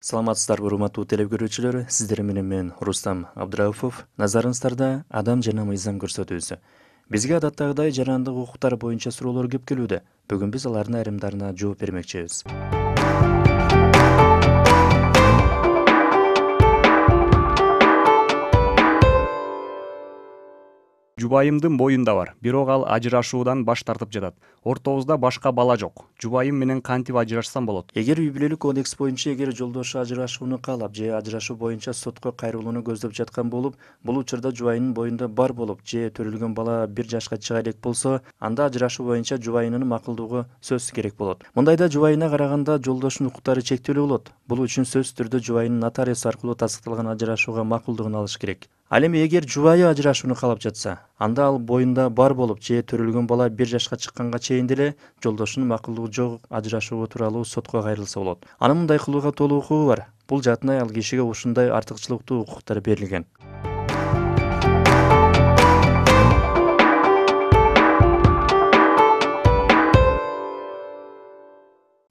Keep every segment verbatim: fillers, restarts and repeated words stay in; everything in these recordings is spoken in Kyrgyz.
Саламатсыздарбы, урматтуу теле көрүүчүлөр, сиздер менен мен Рустам Абдырауфов. Назарыңыздарда адам жана мыйзам көрсөтүүсү. Бизге адаттагыдай жарандык укуктар боюнча суроолор көп келүүдө. Бүгүн биз алардын айрымдарына жооп бермекчибиз. Жубайымдын боюнда бар, бирок ал ажырашуудан баш тартып жатат. Ортобузда башка бала жок. Жубайым менен кантип ажырашсам болот? Эгер үй бүлөлүк кодекс боюнча эгер жолдошу ажырашууну каалап же ажырашуу боюнча сотко кайрылууну көздөп жаткан болуп, бул учурда жубайынын боюнда бар болуп же төрөлгөн бала бир жашка чыга элек болсо, анда ажырашуу боюнча жубайынын макулдугу сөзсүз керек болот. Мындайда жубайына караганда жолдошунун укуктары чектелүү болот. Бул үчүн сөзсүз түрдө жубайынын нотариус аркылуу тастыкталган ажырашууга макулдугун алыш керек. Ал эми эгер жубайы ажырашууну каалап жатса, анда ал боюнда бар болуп же төрөлгөн бала бир жашка чыкканга чейин деле жолдошунун макулдугу жок ажырашуу тууралуу сотко кайрылса болот. Анын мындай кылууга толук укугу бар. Бул жаатында ал кишиге ушундай артыкчылыктуу укуктар берилген.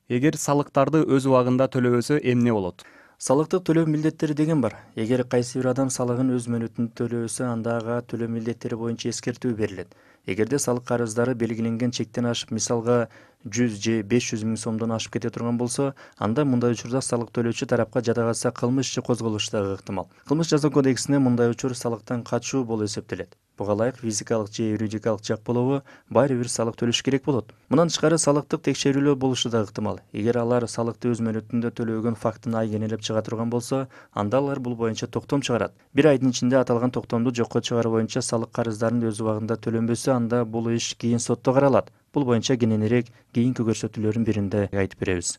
Эгер салыктарды өз убагында төлөбөсө эмне болот? Салыктык төлөө милдеттери деген бар. Эгер кайсы бир адам салыгын өз мөөнөтүндө төлөбөсө, анда ага төлөө милдеттери боюнча эскертүү берилет. Эгерде салык карыздары белгиленген чектен ашып, мисалга жүз же беш жүз миң сомдон ашып кете турган болсо, анда мындай учурда салык төлөөчү тарапка жада калса кылмыш иши козголушу дагы ыктымал. Кылмыш жаза кодексинде мындай учур салыктан качуу болуп эсептелет. Буга ылайык физикалык же юридикалык жак болобу, баары бир салык төлөш керек болот. Мындан тышкары салыктык текшерүүлөр болушу да ыктымал. Эгер алар салыкты өз мөөнөтүндө төлөгөн фактын айгинелеп чыга турган болсо, анда алар бул боюнча токтом чыгарат. Бир айдын ичинде аталган токтомду жокко чыгаруу боюнча салык карыздарын өз убагында төлөнбөсө, анда бул иш кийин сотто каралат. Бул боюнча кененирээк кийинки көрсөтүүлөрдүн биринде айтып беребиз.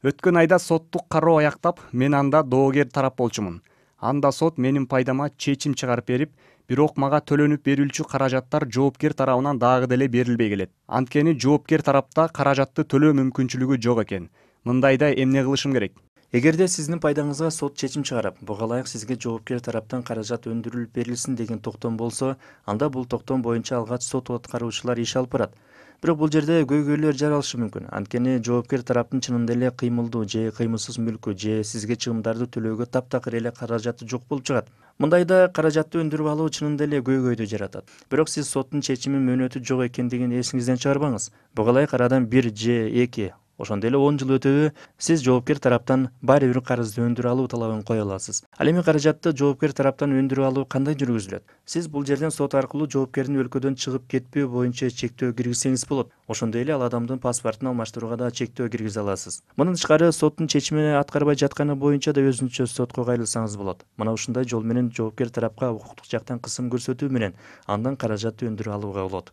Өткөн айда соттук кароо аяктап, мен анда доогер тарап болчумун. Анда сот менин пайдама чечим чыгарып берип, бирок мага төлөнүп берилчү каражаттар жоопкер тарабынан дагы деле берилбей келет. Анткени жоопкер тарапта каражатты төлөө мүмкүнчүлүгү жок экен. Мындайда эмне кылышым керек? Эгерде сиздин пайдаңызга сот чечим чыгарып, буга ылайык сизге жоопкер тараптан каражат өндүрүлүп берилсин деген токтом болсо, анда бул токтом боюнча алгач сот аткаруучулар иш алып барат. Бирок бул жерде көйгөйлөр жаралышы мүмкүн. Анткени жоопкер тараптын чынында эле кыймылдуу же кыймылсыз мүлкү же сизге чыгымдарды төлөөгө таптакыр эле каражаты жок болуп чыгат. Мындайда каражатты өндүрүп алуу чынында эле көйгөйдү жаратат. Бирок сиз соттун чечимин мөөнөтү жок экендигин эсиңизден чыгарбаңыз. Буга ылайык арадан бир же эки ошондой эле он жыл өтөбү, сиз жоопкер тараптан баары бир карызды өндүрүп алуу талабын кое аласыз. Ал эми каражатты жоопкер тараптан өндүрүп алуу кандай жүргүзүлөт? Сиз бул жерден сот аркылуу жоопкердин өлкөдөн чыгып кетпөө боюнча чектөө киргизсеңиз болот. Ошондой эле ал адамдын паспортун алмаштырууга да чектөө киргизе аласыз. Мындан тышкары соттун чечимин аткарбай жатканы боюнча да өзүнчө сотко кайрылсаңыз болот. Мына ушундай жол менен жоопкер тарапка укуктук жактан кысым көрсөтүү менен андан каражатты өндүрүп алууга болот.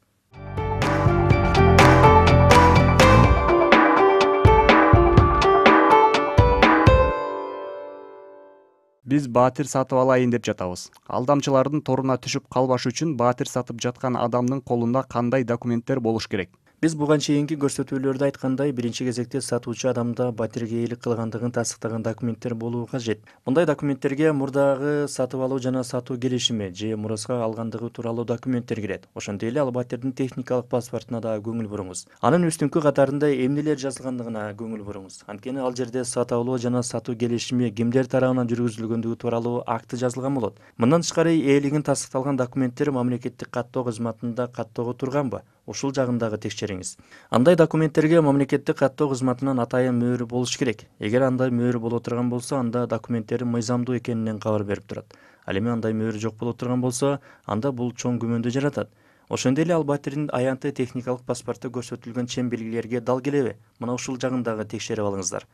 Биз баатир сатып алайын деп жатабыз. Алдамчылардын торуна түшүп калбаш үчүн баатир сатып жаткан адамдын колунда кандай документтер болуш керек? Биз буга чейинки көрсөтүүлөрдө айткандай, биринчи кезекте сатуучу адамда батирге ээлик кылгандыгын тастыктаган документтер болуу кажет. Мындай документтерге мурдагы сатып алуу жана сатуу келишими же мураска алгандыгы тууралуу документтер кирет. Ошондой эле ал батирдин техникалык паспортуна да көңүл буруңуз. Анын үстүнкү катарында эмнелер жазылгандыгына көңүл буруңуз. Анткени ал жерде сатып алуу жана сатуу келишими кимдер тарабынан жүргүзүлгөндүгү тууралуу акты жазылган болот. Мындан тышкары ээлигин тастыкталган документтер мамлекеттик каттоо кызматында каттоого турганбы? Ушул жагын дагы текшериңиз. Андай документтерге мамлекеттик каттоо кызматынан атайын мөөрү болуш керек. Эгер андай мөөрү боло турган болсо, анда документтердин мыйзамдуу экенинен кабар берип турат. Ал эми андай мөөрү жок боло турган болсо, анда бул чоң күмөндү жаратат. Ошондой эле ал батирдин аянты техникалык паспортто көрсөтүлгөн чен белгилерге дал келеби? Мына ушул жагын дагы текшерип алыңыздар.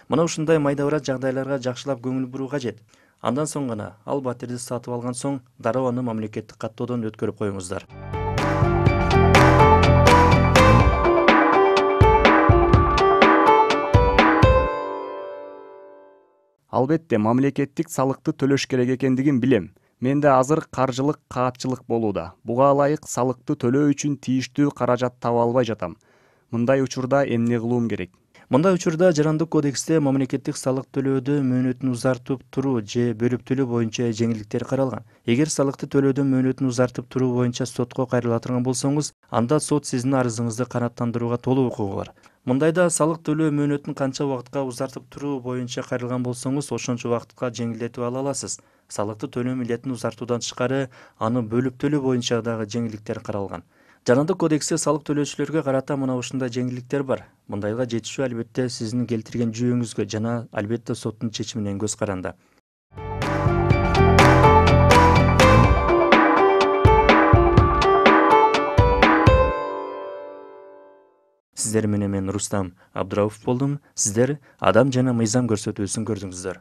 Мына ушундай майда барат жагдайларга жакшылап көңүл буруу кажет. Андан соң гана ал батирди сатып алган соң дароо аны мамлекеттик каттоодон өткөрүп коюңуздар. Албетте, мамлекеттик салыкты төлөш керек экендигин билем. Менде азыр каржылык каатчылык болууда. Буга ылайык салыкты төлөө үчүн тийиштүү каражат таба албай жатам. Мындай учурда эмне кылуум керек? Мындай учурда Жарандык кодексте мамлекеттик салык төлөөдө мөөнөтүн узартып туруу же бөлүп төлөө боюнча жеңилдиктер каралган. Эгер салыкты төлөөдө мөөнөтүн узартып туруу боюнча сотко кайрыла турган болсоңуз, анда сот сиздин арызыңызды канааттандырууга толук укугу бар. Мындайда салык төлөө мөөнөтүн канча убакытка узартып туруу боюнча кайрылган болсоңуз, ошончо убакытка жеңилдетип ала аласыз. Салыкты төлөө милдетин узартуудан тышкары, аны бөлүп төлөө боюнча дагы жеңилдиктер каралган. Жарандык кодексте салык төлөөчүлөргө карата мына ушундай жеңилдиктер бар. Мындайга жетишүү албетте сиздин келтирген жүйөңүзгө жана албетте соттун чечимине көз каранды. Сиздер менен мен Рустам Абдырауф болдум. Сиздер Адам жана мыйзам көрсөтүүсүн көрдүңүздөр.